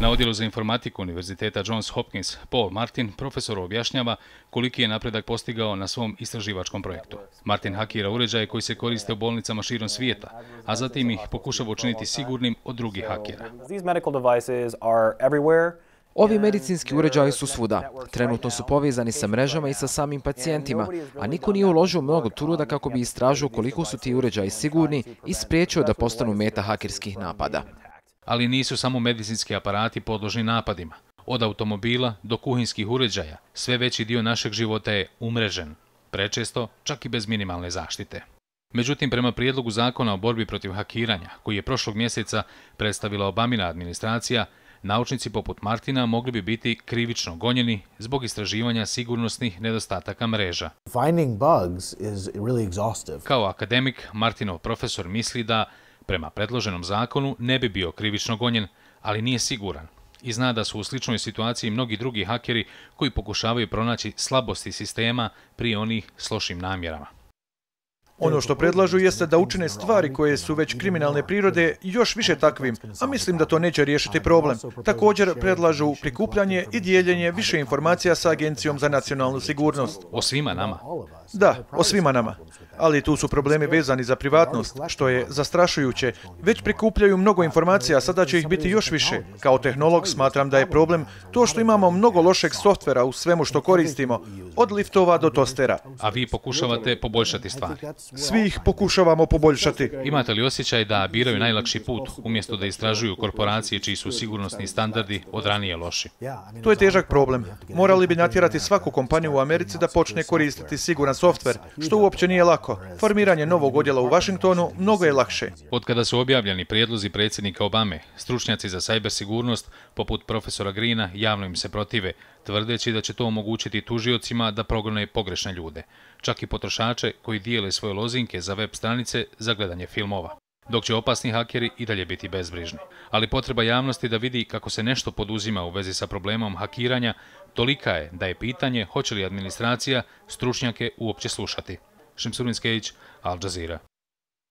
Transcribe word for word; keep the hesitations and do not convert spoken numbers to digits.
Na odjelu za informatiku Univerziteta Johns Hopkins Paul Martin profesoru objašnjava koliki je napredak postigao na svom istraživačkom projektu. Martin hakira uređaje koji se koriste u bolnicama širom svijeta, a zatim ih pokušava učiniti sigurnim od drugih hakera. Ovi medicinski uređaji su svuda. Trenutno su povezani sa mrežama i sa samim pacijentima, a niko nije uložio mnogo truda kako bi istražio koliko su ti uređaji sigurni i spriječio da postanu meta hakerskih napada. Ali nisu samo medicinski aparati podložni napadima. Od automobila do kuhinskih uređaja sve veći dio našeg života je umrežen, prečesto čak i bez minimalne zaštite. Međutim, prema prijedlogu zakona o borbi protiv hakiranja, koji je prošlog mjeseca predstavila Obamina administracija, naučnici poput Martina mogli bi biti krivično gonjeni zbog istraživanja sigurnosnih nedostataka mreža. Kao akademik, Martinov profesor misli da prema predloženom zakonu ne bi bio krivično gonjen, ali nije siguran i zna da su u sličnoj situaciji mnogi drugi hakeri koji pokušavaju pronaći slabosti sistema prije onih s lošim namjerama. Ono što predlažu jeste da učine stvari koje su već kriminalne prirode još više takvim, a mislim da to neće riješiti problem. Također predlažu prikupljanje i dijeljenje više informacija sa Agencijom za nacionalnu sigurnost. O svima nama? Da, o svima nama. Ali tu su problemi vezani za privatnost, što je zastrašujuće. Već prikupljaju mnogo informacija, sada će ih biti još više. Kao tehnolog smatram da je problem to što imamo mnogo lošeg softvera u svemu što koristimo, od liftova do tostera. A vi pokušavate poboljšati stvari? Svi ih pokušavamo poboljšati. Imate li osjećaj da biraju najlakši put, umjesto da istražuju korporacije čiji su sigurnosni standardi od ranije loši? To je težak problem. Morali bi natjerati svaku kompaniju u Americi da počne koristiti siguran softver, što uopće nije lako. Formiranje novog odjela u Washingtonu mnogo je lakše. Od kada su objavljeni prijedlozi predsjednika Obame, stručnjaci za sajber sigurnost, poput profesora Greena, javno im se protive, tvrdeći da će to omogućiti tužiocima da progone pogrešne ljude, čak i potrošače koji dijele svoje lozinke za web stranice za gledanje filmova, dok će opasni hakeri i dalje biti bezbrižni. Ali potreba javnosti da vidi kako se nešto poduzima u vezi sa problemom hakiranja tolika je da je pitanje hoće li administracija stručnjake uopće slušati. Šemsuddin Skejić, Al Jazeera.